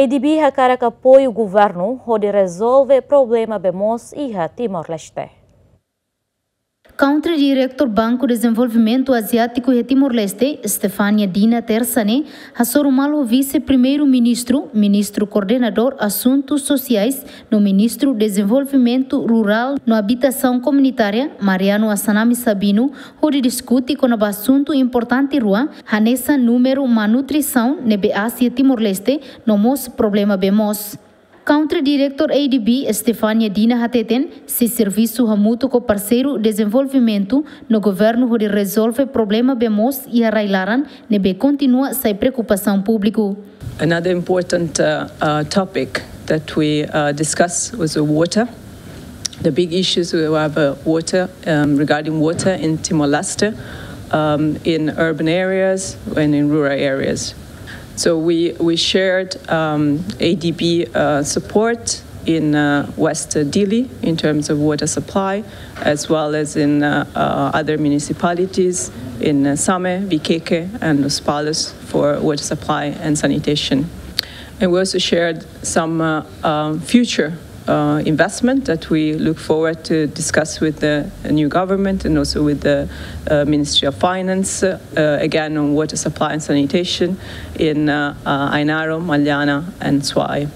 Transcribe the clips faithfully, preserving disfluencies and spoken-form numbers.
ADB hakarak apoiu governu hodi rezolve problema bee moos iha Timor-Leste. Country Director Banku Dezenvolvimentu Aziátiku iha Timor-Leste, Stefania Dina, tersa ne'e hasoru malu ho Vise-Primeiru-Ministru, Ministru Koordenadór Asuntu Sosiais no Ministru Dezenvolvimentu Rurál no Abitasaun Komunitária, Mariano Assanami Sabino, hodi diskute kona-ba asuntu importante rua, hanesan númeru malnutrisaun ne'ebé aas iha Timor-Leste no mós problema bee moos. Country Director ADB, Stefania Dina, hateten sei servisu hamutuk ho parseiru dezenvolvimentu no governu hodi rezolve problema bee moos iha rai-laran ne'ebé kontinua sai preokupasaun públiku. Another important uh, uh, topic that we uh, discussed was the water, the big issues we have uh, water, um, regarding water in Timor-Leste, um, in urban areas and in rural areas. So we, we shared um, ADB uh, support in uh, West Dili in terms of water supply, as well as in uh, uh, other municipalities in uh, Same, Viqueque, and Lospalos for water supply and sanitation. And we also shared some uh, um, future uh, investment that we look forward to discuss with the new government and also with the uh, Ministry of Finance, uh, again on water supply and sanitation in uh, uh, Ainaro, Maliana, and Suai.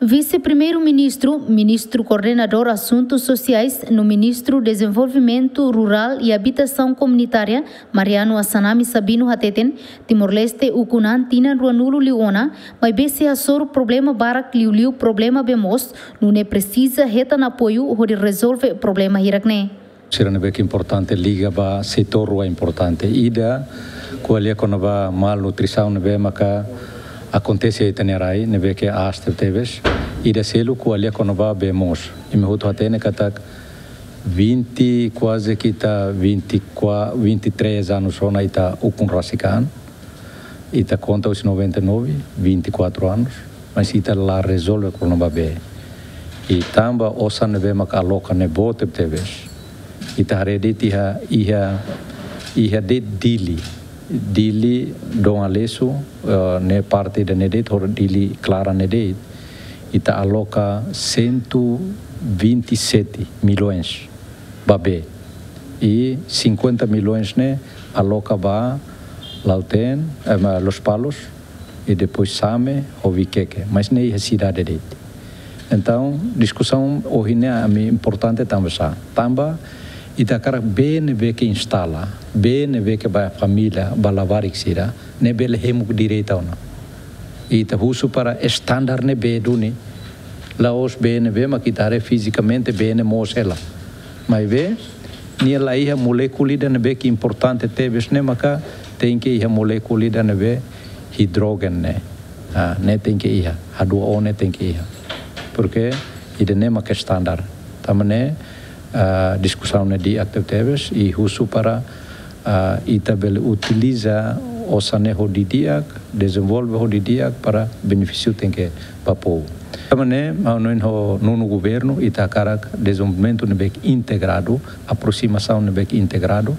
Vise-Primeiru-Ministru, Ministru Koordenadór Asuntu Sosiais no Ministru Dezenvolvimentu Rurál i Abitasaun Komunitária, Mariano Assanami Sabino, hateten Timor-Leste ukun an tinan ruanulu liu ona, maibé sei hasoru problema barak, liuliu problema bee moos, nune'e presiza hetan apoiu hodi rezolve problema hirak ne'e. Sira ne'ebé ke importante liga ba setór rua importante. Ida ko'alia kona-ba malnutrisaun ne'ebé maka akontese iha ita-nia rai, ne'ebé ke aas tebetebes. Ida seluk ko'alia kona-ba bee moos. Imi hotu hatene katak vinte, kuaze ke ita vinte e quatro, vinte e três anos ona ita ukun rasik an. Ita konta husi noventa e nove, vinte e quatro anos, mas ita la rezolve problema bee. I tanba osan ne'ebé maka aloka ne'e boot tebetebes. Ita haree de'it iha, iha, iha de'it Dili. Dili, Dom Aleixo, eh, ne'e parte ida-ne'e de'it, hodi Dili klaran ne'e de'it. Ita aloka cento e vinte e sete milhões ba bee. I cinquenta milhões ne'e aloka ba Lautém, eh, ba Lospalos, i depois Same, ho Viqueque. Mas ne'e iha sidade de'it. Entaun, diskusaun ohin ne'e ami importante tanba sá. Tanba ita hakarak bee ne'ebé ke instala, bee ne'ebé ke ba família, ba labarik sira, ne'e bele hemu direitu ona. Ita husu para estandar ne'ebé duni, la'ós bee ne'ebé maka ita haree fizikamente bee ne'e moos hela. Maibé, nia la iha molékula ida ne'ebé ke importante tebes ne'e maka tenke iha molékula ida ne'ebé hidrójenu ne'e. Ah, ne'e tenke iha, H dua O ne'e tenke iha. Porke ida-ne'e maka estandar. Tanba ne'e, ah, diskusaun ne'e di'ak tebetebes i husu para, ah, ita bele utiliza osan ne'e ho didi'ak, dezenvolve ho didi'ak para benefísiu tenke ba povu. Tanba ne'e, ha'u hanoin ho nonu governu, ita hakarak dezenvolvimentu ne'ebé ke integradu, aprosimasaun ne'ebé ke integradu,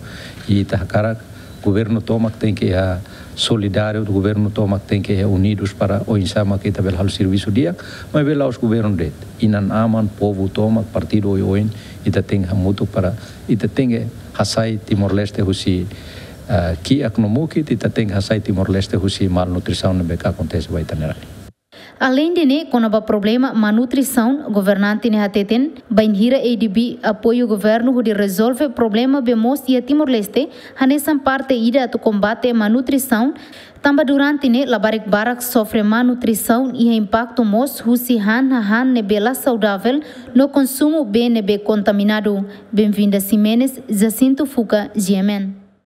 i ita hakarak governu tomak tenke iha solidáriu, governu tomak tenke iha unidus para oinsá maka ita bele halo servisu di'ak, maibé la'ós governu de'it. Inan-aman, povu tomak, partidu oioin, ita tenke hamutuk para, ita tenke hasai Timor-Leste husi, ah, kiak no mukit, ita tenke hasai Timor-Leste husi malnutrisaun ne'ebé ke akontese ba ita-nia rai. Aleinde ne'e, kona-ba problema malnutrisaun, governante ne'e hateten, bainhira ADB apoiu governu hodi rezolve problema bee moos iha Timor-Leste, hanesan parte ida atu kombate malnutrisaun, tanba durante ne'e labarik barak sofre malnutrisaun iha impaktu mós husi han hahán ne'ebé la saudavel no konsumu bee ne'ebé kontaminadu. Benvinda Ximenes, Jacinto Fuca, G M N.